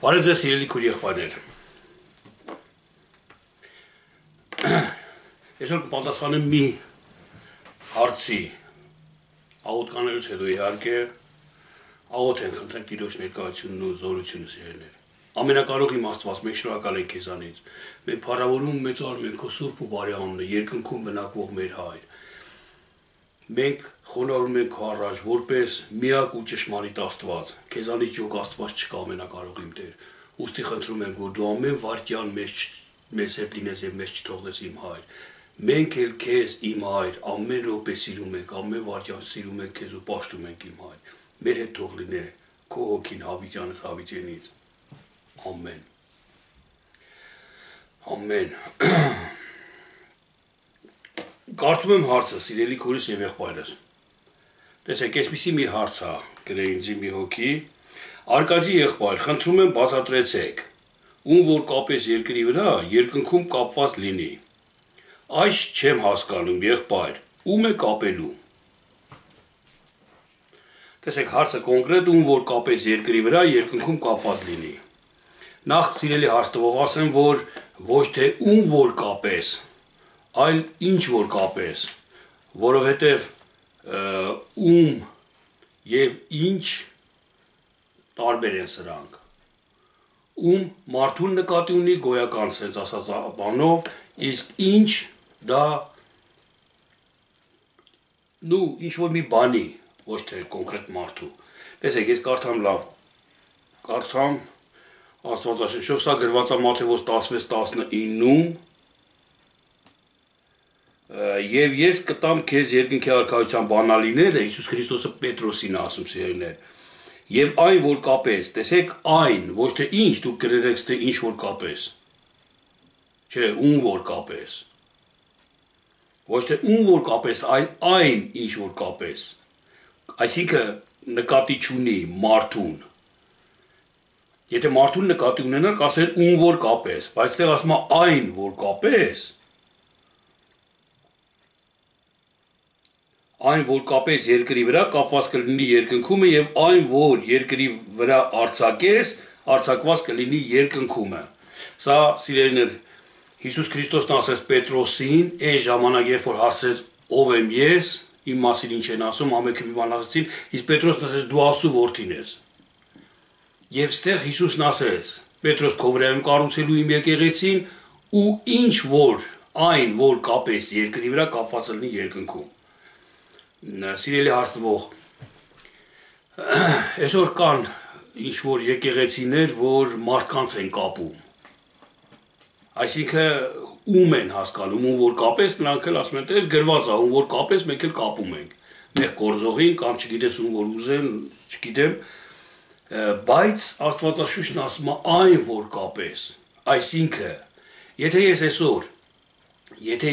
Բարև ձեզ սիրելի քույր եղբայրներ։ Այսօր կպատասխանեմ մի հարցի, աղոթ կանելուց հետո իհարկե աղոթ ենք խնդրենք Տիրոջ ներկայությունն ու զորությունը սիրելիներ։ Ամենակարող իմ Աստված, մենք շնորհակալ ենք քեզանից։ Մենք փառավորում մեծարում ենք քո սուրբ ու բարի անունը, երկնքում բնակվող մեր Հայր։ Մենք խոնարհում ենք քո առաջ որպես միակ ու ճշմարիտ Աստված։ Քեզանից յոգ Աստված չկա ամենակարող իմ Տեր։ Ուստի խնդրում ենք, որ դու ամեն վայրկյան մեզ հետ լինես եւ մեզ չթողնես իմ Հայր։ Մենք էլ քեզ իմ Հայր ամեն րոպե սիրում ենք, ամեն վայրկյան սիրում ենք քեզ ու պաշտում ենք իմ Հայր։ Մեր հետ թող լինե քո հոգին հավիտյանս հավիտենից։ Ամեն։ Ամեն։ Կարդում եմ հարցը, սիրելի քույրս եւ եղբայրս։ Տեսեք, այսպեսի մի հարց է, գրել ինձ մի հոգի։ Արկադի եղբայր, խնդրում եմ բացատրեցեք, ում որ կապես երկրի վրա, երկնքում կապված լինի։ Այս չեմ հասկանում, եղբայր, ում է կապելու։ Տեսեք, հարցը կոնկրետ, ում որ կապես երկրի վրա, երկնքում կապված լինի։ Նախ սիրելի հարց տվող ասեմ, որ ոչ թե ում որ կապես, այլ ինչ որ կապես, որովհետև ում եւ ինչ տարբեր են սրանք։ Ում մարդուն նկատի ունի գոյական sense ասած բանով, իսկ ինչ դա ինչ որ մի բանի, ոչ թե կոնկրետ մարդու։ Տեսեք, ես կարդամ լավ, կարդամ Աստվածաշնչով, սա գրված է Մատթեոս 16:19-ում, եւ ես կտամ քեզ երկնքի արքայության բանալիները, Հիսուս Քրիստոսը Պետրոսին ասում սիրելիներ, եւ այն որ կապես, տեսեք այն, ոչ թե ինչ դուք գրերեք, թե ինչ որ կապես, չէ, ում որ կապես, ոչ թե ում որ կապես, այլ այն ինչ որ կապես, այսինքն նկատի չունի մարդուն, եթե մարդուն նկատի ունենար, կասեր ում որ կապես, բայց այստեղ ասում է այն որ կապես, այն որ կապես երկրի վրա կապված կլինի երկնքումը եւ այն որ երկրի վրա արձակես, արձակված կլինի երկնքումը։ Սա սիրելիներ Հիսուս Քրիստոսն ասեց Պետրոսին, այն ժամանակ երբ որ հարցրեց ով եմ ես, իմ մասին ինչ են ասում, ամենքը մի բան ասեցին, իսկ Պետրոսն ասեց դու Աստծո որդին ես։ Եվ ստեղ Հիսուսն ասեց. Պետրոս քո վրա եմ կառուցելու իմ եկեղեցին ու ինչ որ այն որ կապես երկրի վրա կապված լինի երկնքում։ Սիրելի հարցնող, այսօր կան ինչ որ եկեղեցիներ, որ մարդկանց են կապում։ Այսինքն ում են հասկանում, ում որ կապես նրանք էլ ասում են, դες գրված է, ում որ կապես մենք էլ կապում ենք։ Մեր գործողին կամ չգիտես ում որ ուզեն, չգիտեմ, բայց Աստվածաշունչն ասում է այն որ կապես, այսինքն եթե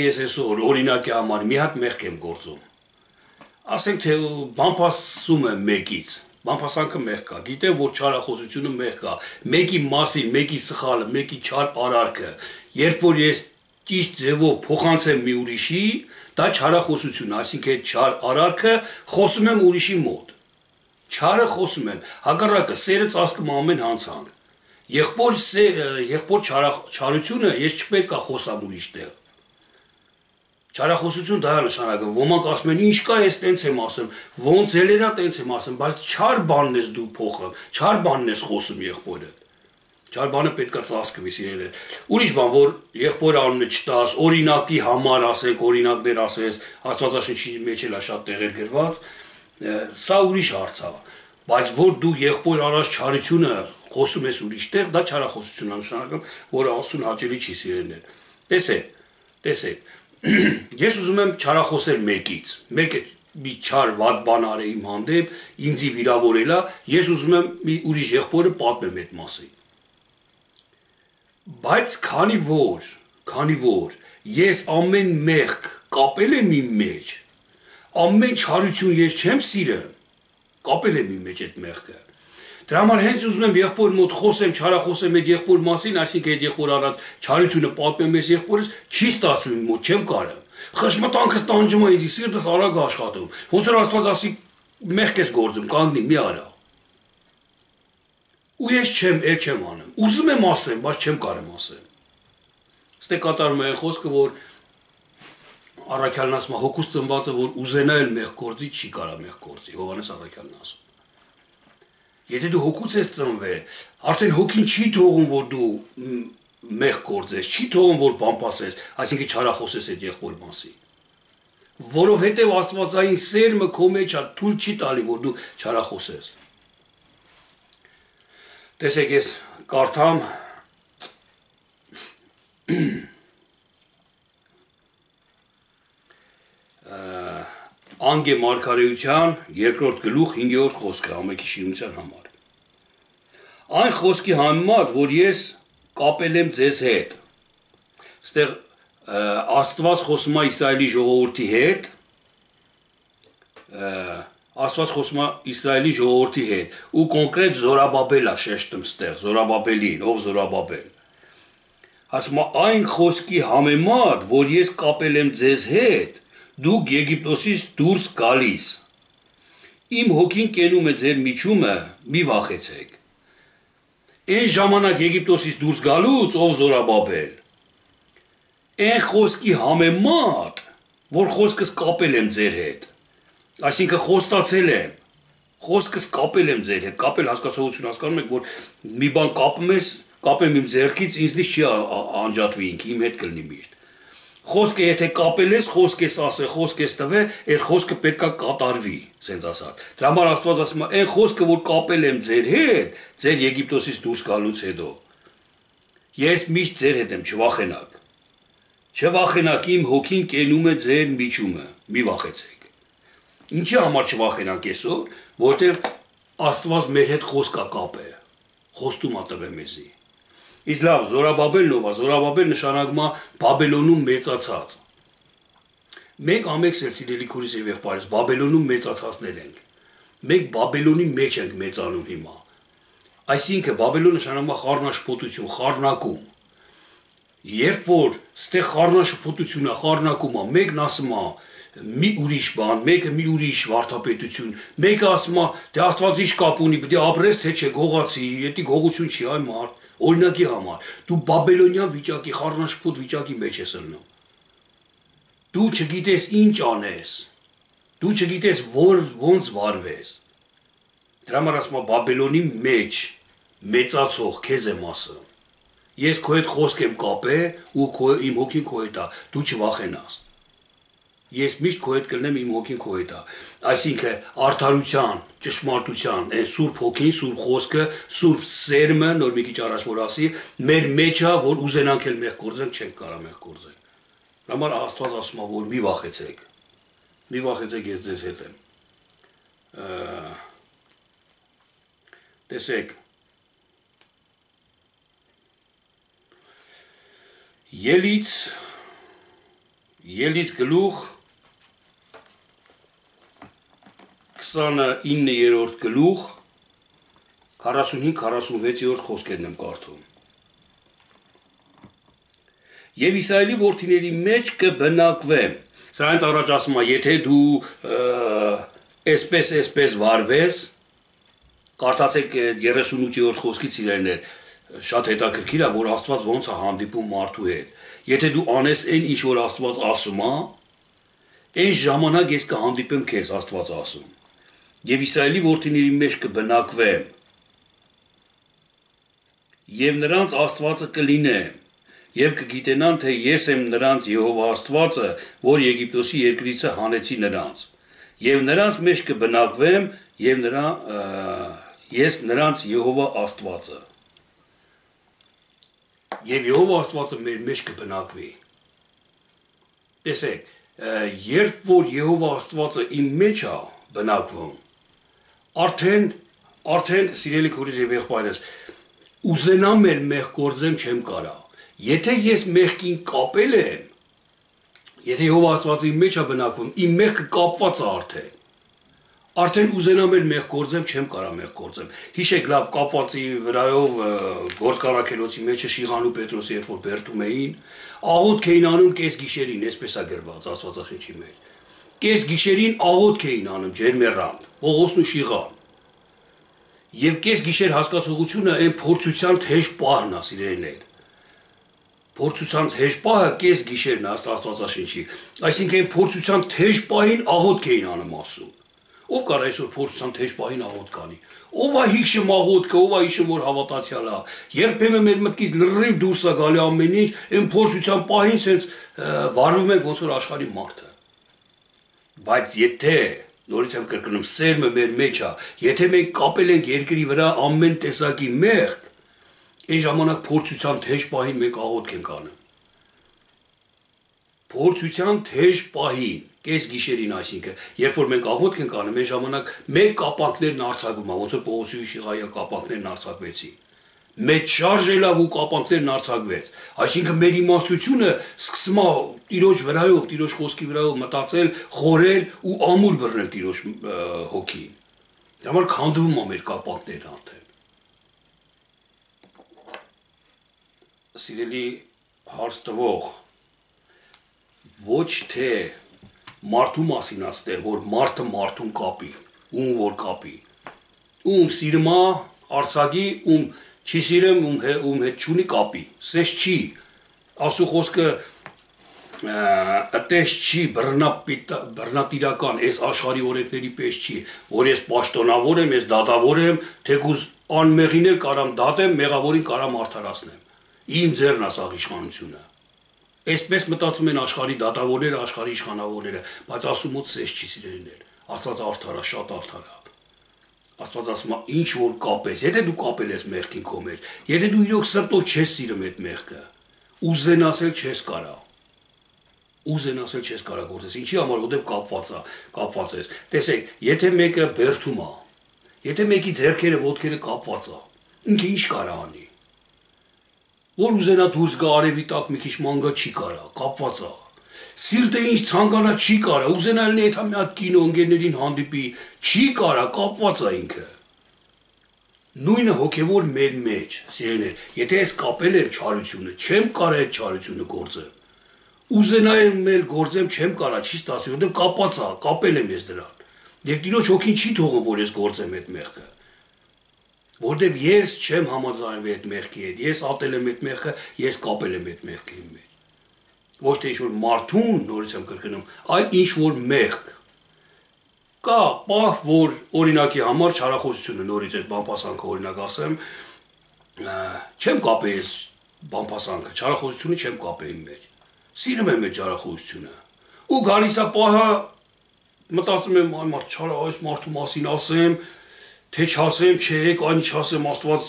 ես այսօր օրինակի համար մի հատ մեղք եմ գործում, ասենք թե բամփասում եմ մեկից, բամփասանքը մեղք կա, գիտեմ որ չարախոսությունը մեղք կա, մեկի մասին, մեկի սխալը, մեկի չար արարքը, երբ որ ես ճիշտ ձևով փոխանցեմ մի ուրիշի, դա չարախոսություն, այսինքն այդ չար արարքը խոսում եմ ուրիշի մոտ։ Չարը խոսում եմ, հակառակը սերը ծածկում ամեն հանցանք։ Եղբոր չարությունը ես չպետք է խոսամ ուրիշ տեղ։ Չարախոսություն դա է նշանակում, ոմանք ասում են ինչ կա ես տենց եմ ասում, ոնց ելերա տենց եմ ասում, բայց չար բանն ես դու փոխում, չար բանն ես խոսում եղբորը։ Չար բանը պետք է ծածկվի սիրելիներ։ Ուրիշ բան, որ եղբոր անունը չտաս, օրինակի համար ասենք, օրինակներ ասես, Աստվածաշնչի մեջ էլ է շատ տեղեր գրված, սա ուրիշ հարց է, բայց որ դու եղբոր արած չարությունը խոսում ես ուրիշ տեղ, դա չարախոսություն է նշանակում, որը Աստծուն հաճելի չի սիրելիներ։ Տեսեք, ես ուզում եմ չարախոսել մեկից, մեկը մի չար վատ բան արել իմ հանդեպ, ինձի վիրավորելա, ես ուզում եմ մի ուրիշ եղբորը պատմեմ այդ մասին։ Բայց քանի որ ես ամեն մեղք կապել եմ իմ մեջ, ամեն չարություն ես չեմ սիրում, կապել եմ իմ մեջ այդ մեղքը։ Դրա համար հենց ուզում եմ եղբոր մոտ խոսեմ, չարախոսեմ այդ եղբոր մասին, այսինքն այդ եղբոր արած չարությունը պատմեմ ես եղբորս, չի ստացվում իմ մոտ, չեմ կարող։ Խշմտանքս տանջում է ինձ, սիրտս արագ աշխատում։ Ոնց որ Աստված ասի մեղք ես գործում, կանգնի, մի արա։ ու ես չեմ անում։ Ուզում եմ ասեմ, բայց չեմ կարեմ ասեմ։ Ստե կատարում է խոսքը, որ Առաքյալն ասում է հոգուց ծնվածը, որ ուզենա էլ մեղ գործի, չի կարա մեղ գործի, Հովհաննես Առաքյալն ասում։ Եթե դու հոգուց ես ծնվել, արդեն հոգին չի թողում, որ դու մեղ գործես, չի թողում, որ բամպասես, այսինքն չարախոսես այդ եղբոր մասի։ Որովհետև աստվածային սերմը քո մեջ է, թույլ չի տալի, որ դու չարախոսես։ Տեսեք, ես կարդամ Անգե մարգարեության 2-րդ գլուխ 5-րդ խոսքը ամենքի շինության համար։ Այն խոսքի համեմատ, որ ես կապել եմ ձեզ հետ։ Ստեղ Աստված խոսում է Իսրայելի ժողովրդի հետ, ու կոնկրետ Զորաբաբել է շեշտում ստեղ, Զորաբաբելին, ով Զորաբաբել։ Ասում է այն խոսքի համեմատ, որ ես կապել եմ ձեզ հետ, դուք Եգիպտոսից դուրս գալիս։ Իմ հոգին կենում է ձեր միջումը, մի վախեցեք։ Այն ժամանակ Եգիպտոսից դուրս գալուց, ով Զորաբաբել, այն խոսքի համեմատ, որ խոսքս կապել եմ ձեր հետ, այսինքն խոստացել եմ, խոսքս կապել եմ ձեր հետ, կապել հասկացողություն հասկանում եք, որ մի բան կապեմ իմ ձեռքից, ինձնից չի անջատվի ինքը, իմ հետ կլինի միշտ։ Խոսքը եթե կապել ես, խոսք ես ասել, խոսք ես տվել, այդ խոսքը պետք է կատարվի, սենց ասած։ Դրա համար Աստված ասում է, այն խոսքը, որ կապել եմ ձեր հետ, ձեր Եգիպտոսից դուրս գալուց հետո, ես միշտ ձեր հետ եմ, չվախենաք։ Չվախենաք, իմ հոգին կենում է ձեր միջումը, մի վախեցեք։ Ինչի համար չվախենանք այսօր, որովհետև Աստված մեր հետ խոսք է կապել, խոստում է տվել մեզի։ Իսկ լավ, Զորաբաբելն ով է, Զորաբաբել նշանակում է Բաբելոնում մեծացած։ Մենք ամենքս էլ սիրելի քուրիս եւ եղբայրս Բաբելոնում մեծացածներ ենք։ Մենք Բաբելոնի մեջ ենք մեծանում հիմա։ Այսինքն Բաբելոն նշանակում է խառնաշփոթություն, խառնակում։ Երբ որ ստեղ խառնաշփոթություն է, խառնակում է, մեկն ասում է մի ուրիշ բան, մեկը մի ուրիշ վարդապետություն, մեկը ասում է դե Աստված ինչ կապ ունի, պետք է ապրես թե չէ, գողացի, դա գողություն չի, այ մարդ, օրինակի համար, դու բաբելոնյան վիճակի, խառնաշփոթ վիճակի մեջ ես ելնում։ Դու չգիտես ինչ անես, դու չգիտես ոնց վարվես։ Դրա համար ասում է Բաբելոնի մեջ մեծացող քեզ եմ ասում։ Ես քո հետ խոսք եմ կապել ու իմ հոգին քո հետ է, դու չվախենաս։ Ես միշտ քո հետ կլինեմ, իմ հոգին քո հետ է։ Այսինքն արդարության, ճշմարտության, այն Սուրբ Հոգին, Սուրբ Խոսքը, Սուրբ Սերմը, նոր մի քիչ առաջ որ ասի, մեր մեջ է, որ ուզենանք էլ մեղ գործենք, չենք կարող մեղ գործենք։ Դրա համար Աստված ասում է, որ մի վախեցեք։ Մի վախեցեք, ես ձեզ հետ եմ։ Տեսեք, Ելից գլուխ 29-րդ գլուխ 45-46-րդ խոսքերն եմ կարդում։ Եվ Իսրայելի որդիների մեջ կբնակվեմ։ Սրանից առաջ ասում է, եթե դու այսպես վարվես, կարդացեք 38-րդ խոսքից իրեններ, շատ հետաքրքիր է, որ Աստված ոնց է հանդիպում մարդու հետ։ Եթե դու անես այն ինչ որ Աստված ասում է, այն ժամանակ ես կհանդիպեմ քեզ, Աստված ասում։ Եվ Իսրայելի որդիների մեջ կբնակվեմ։ Եվ նրանց Աստվածը կլինեմ, եւ կգիտենան, թե ես եմ նրանց Եհովա Աստվածը, որ Եգիպտոսի երկրից հանեցի նրանց։ Եվ նրանց մեջ կբնակվեմ, եւ ես նրանց Եհովա Աստվածը։ Եվ Եհովա Աստվածը մեր մեջ կբնակվի։ Տեսեք, երբ որ Եհովա Աստվածը իմ մեջ է բնակվում, արդեն սիրելի քուրիս եւ եղբայրս, ուզենամ էլ մեղ գործեմ չեմ կարա։ Եթե ես մեղքին կապել եմ, եթե Եհովա Աստվածը իմ մեջ է բնակվում, իմ մեղքը կապված է արդեն ուզենամ էլ մեղ գործեմ, չեմ կարա մեղ գործեմ։ Հիշեք լավ կապվածի վրայով գործկառաքելոցի մեջը Շիղան ու Պետրոսը երբ որ բերդում էին, աղոթք էին անում կես գիշերին, այսպես է գրված Աստվածաշնչի մեջ։ Կես գիշերին աղոթք էին անում ջերմեռանդ, Պողոսն ու Շիղան։ Եվ կես գիշեր հասկացողությունը այն փորձության թեժ պահն է, սիրելիներ։ Փորձության թեժ պահը կես գիշերն է Աստվածաշնչի։ Այսինքն այն փորձության թեժ պահին աղոթք էին անում ասում։ Ով կար այսօր փորձության թեժ պահին աղոթք անի։ Ով է հիշում աղոթքը, ով է հիշում որ հավատացյալ է։ Երբեմն մեր մտքից լրիվ դուրս է գալի ամեն ինչ, այն փորձության պահին sense վարվում ենք ոնց որ աշխարհի մարդը։ Բայց եթե նորից եմ կրկնում, սերմը մեր մեջ է, եթե մենք կապել ենք երկրի վրա ամեն տեսակի մեղք, այն ժամանակ փորձության թեժ պահին մենք աղոթք ենք անում։ Փորձության թեժ պահին, կես գիշերին, այսինքն, երբ որ մենք աղոթք ենք անում, այն ժամանակ մեր կապանքներն արձակվում են, ոնց որ Պողոսի Շիղայի կապանքներն արձակվեցին։ Մեծ շարժելով ու կապանքներն արձակվեց։ Այսինքն մեր իմաստությունը սկսում է Տիրոջ վրայով, Տիրոջ խոսքի վրայով մտածել, խորել ու ամուր բռնել Տիրոջ հոգին։ Դա համար քանդվում է մեր կապանքներն արդեն։ Սիրելի հարց տվող, ոչ թե մարդու մասին աստեղ, որ մարդը մարդուն կապի, ում որ կապի, ում սիրում է արցակի, ում չի սիրում, ում հետ չունի կապի, սես չի, ասու խոսքը ըտես չի, բռնատիրական, ես աշխարհի օրենքների պես չի, որ ես պաշտոնավոր եմ, ես դատավոր եմ, թեկուզ անմեղին էլ կարամ դատեմ, մեղավորին կարամ արդարացնեմ, իմ ձեռն է սաղ իշխանությունը, այսպես մտածում են աշխարհի դատավորները, աշխարհի իշխանավորները, բայց ասում մոտ սես չի սիրելիներ, Աստված արդար է, շատ արդար է, Աստված ասում է, ինչ որ կապես, եթե դու կապել ես մեղքին քո մեջ, եթե դու իրոք սրտով չես սիրում այդ մեղքը, ուզենասել չես կարա, ուզենասել չես կարա գործես, ինչի համար, որտեղ կապված ես, տեսեք, եթե մեկը բերդում է, եթե մեկի ձեռքերը, ոտքերը կապված է, ինքը ինչ կարա անի, որ ուզենա դուրս գա արևի տակ մի քիչ ման գա չի կարա, կապված է, սիրտը ինչ ցանկանա չի կարա, ուզենա լինի այդ մի հատ կինո ընկերներին հանդիպի, չի կարա, կապված է ինքը։ Նույնը հոգևոր մեր մեջ, սիրելիներ, եթե ես կապել եմ չարությունը, չեմ կարա այդ չարությունը գործեմ։ Ուզենայեմ էլ գործեմ, չեմ կարա, չի ստացի, որտեղ կապած է, կապել եմ ես դրան։ Եվ Տիրոջ հոգին չի թողում, որ ես գործեմ այդ մեղքը։ Որտեղ ես չեմ համաձայնվել այդ մեղքի հետ, ես ատել եմ այդ մեղքը, ես կապել եմ այդ մեղքի մեջ։ Ոչ թե ինչ-որ մարդուն, նորից եմ կրկնում, այլ ինչ-որ մեղք։ Կա պահ, որ օրինակի համար չարախոսությունը, նորից այդ բամփասանքը օրինակ ասեմ, չեմ կապել ես բամփասանքը, չարախոսությունը չեմ կապել իմ մեջ։ Սիրում եմ այդ չարախոսությունը։ Ու գալիս է պահը, մտածում եմ, այ մարդ չարա, այս մարդու մասին ասեմ, թե չասեմ, չէ, այն չասեմ, Աստված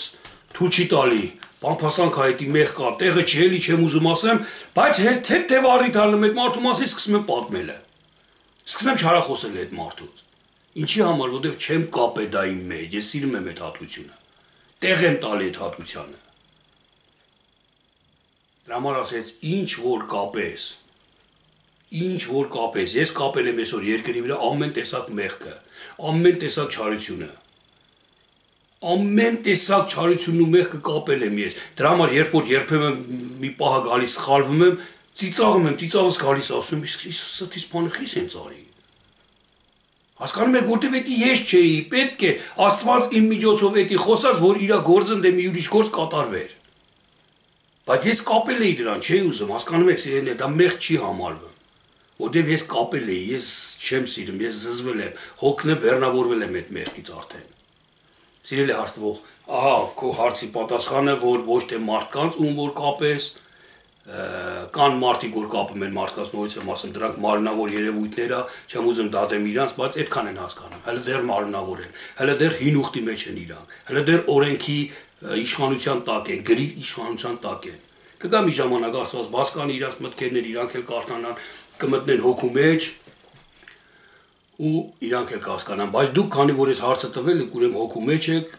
թույլ չի տալի։ Բամփասանք հայտի մեղ կա, տեղը չի էլի չեմ ուզում ասեմ, բայց հենց թեթև առիթ ալնում այդ մարդու մասին սկսում եմ պատմելը։ Սկսում եմ չարախոսել այդ մարդուց։ Ինչի համար, որովհետև չեմ կապել դա իմ մեջ, ես սիրում եմ այդ հատկությունը։ Տեղ եմ տալի այդ հատկությանը։ Դրա համար ասեց, ինչ որ կապես, ես կապել եմ այսօր երկրի վրա ամեն տեսակ մեղքը, ամեն տեսակ չարությունը։ Ամեն տեսակ չարությունն ու մեղքը կապել եմ ես։ Դրա համար երբ որ երբեմն մի պահ գալիս սխալվում եմ, ծիծաղս գալիս ասում եմ, իսկ ստից բանը խիս են ծարի։ Հասկանում եք, որտեվ էդի ես չէի, պետք է Աստված իմ միջոցով էդի խոսած, որ իր գործը դե մի ուրիշ գործ կատարվեր։ Բայց ես կապել էի դրան, չէի ուզում, հասկանում եք, սիրելիներ, դա մեղք չի համարվում։ Որտեվ ես կապել էի, ես չեմ սիրում, ես զզվել եմ, հոգն է բեռնավորվել եմ այդ մեղքից արդեն։ Սիրելի հարցվող, ահա քո հարցի պատասխանը, որ ոչ թե մարդկանց ում որ կապես, կան մարդիկ, որ կապում են մարդկանց, նորից եմ ասում, դրանք մարմնավոր երևույթներ է, չեմ ուզում դատեմ իրանց, բայց այդքան են հասկանում, հələ դեռ մարմնավոր են, հələ դեռ հին ուխտի մեջ են իրանք, հələ դեռ օրենքի իշխանության տակ են, գրի իշխանության տակ են։ Կգա մի ժամանակ Աստված բաց կանի իրանց մտքերներ, իրանք էլ կարթանան, կմտնեն հոգու մեջ ու իրանք էլ կհասկանան, բայց դուք քանի որ ես հարցը տվել եք, ուրեմն հոգու մեջ եք,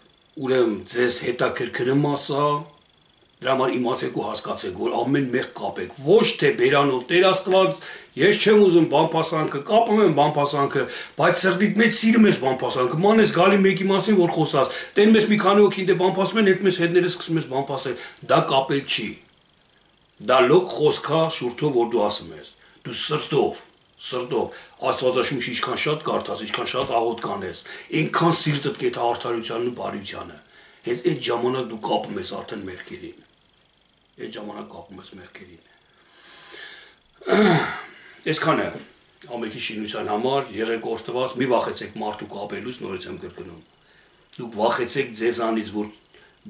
ուրեմն ձեզ հետաքրքրում ասա, դրա համար իմացեք ու հասկացեք, որ ամեն մեղ կապեք, ոչ թե բերանով Տեր Աստված, ես չեմ ուզում բամփասանքը, կապում եմ բամփասանքը, բայց սրտիդ մեջ սիրում ես բամփասանքը, ման ես գալի մեկի մասին, որ խոսած, տենում ես մի քանի հոգին դե բամփասում են, հետ մեզ հետները սկսում ես բամփասել, դա կապել չի։ Դա լոկ խոսքա շուրթով, որ դու ասում ես, դու Սրտով, Աստվածաշունչ ինչքան շատ կարդաս, ինչքան շատ աղոթ կանես, այնքան սիրտդ կեթա արդարությանն ու բարությանը։ Հենց այդ ժամանակ դու կապում ես արդեն մեղքերին։ Այդ ժամանակ կապում ես մեղքերին։ Այսքանը ամենքի շինության համար եղեք օրհնված, մի վախեցեք մարդու կապելուց, նորից եմ կրկնում։ Դուք վախեցեք ձեզանից, որ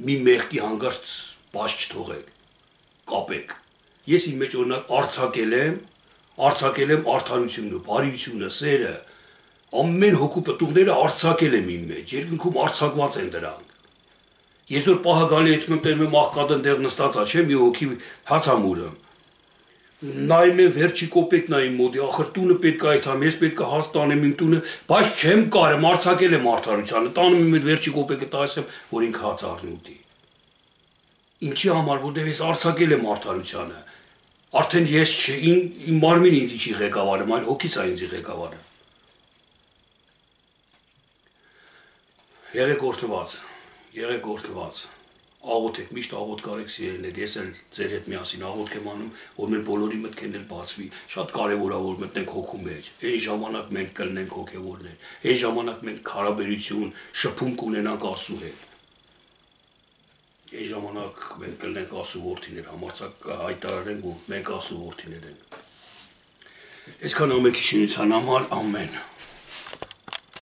մի մեղքի հանգարց բաց չթողեք, կապեք։ Ես իմ մեջ օրինակ արձակել եմ արդարությունը, բարությունը, սերը, ամեն հոգու պտուղները արձակել եմ իմ մեջ, երկնքում արձակված են դրանք։ Ես որ պահը գալի հետում եմ տերում եմ աղքատն դեղ նստած է, չէ՞, մի հոգի հացամուրը։ Նայում եմ վերջի կոպեկն է իմ մոտ, ախր տունը պետք է այդամ, ես պետք է հաց տանեմ իմ տունը, բայց չեմ կարեմ, արձակել եմ արդարությանը, տանում եմ այդ վերջի կոպեկը տալիս եմ, որ ինքը հաց առնի ուտի։ Ինչի համար, որտեղ ես արձակել եմ արդարությանը։ Արդեն ես իմ մարմինը ինձ չի ղեկավարում, այլ հոգիս է ինձ ղեկավարը։ Եղեք օրհնված, աղոթեք, միշտ աղոթ կարեք սիրելիներ, ես էլ ձեր հետ միասին աղոթք եմ անում, որ մեր բոլորի մտքերն էլ բացվի, շատ կարևոր է որ մտնենք հոգու մեջ, այն ժամանակ մենք կլինենք հոգևորներ, այն ժամանակ մենք հարաբերություն, շփում կունենանք Աստծու հետ։ Այն ժամանակ մենք կլինենք Աստծու որդիներ, համարձակ կհայտարարենք, որ մենք Աստծու որդիներ ենք։ Այսքան ամենքի շինության համար, ամեն։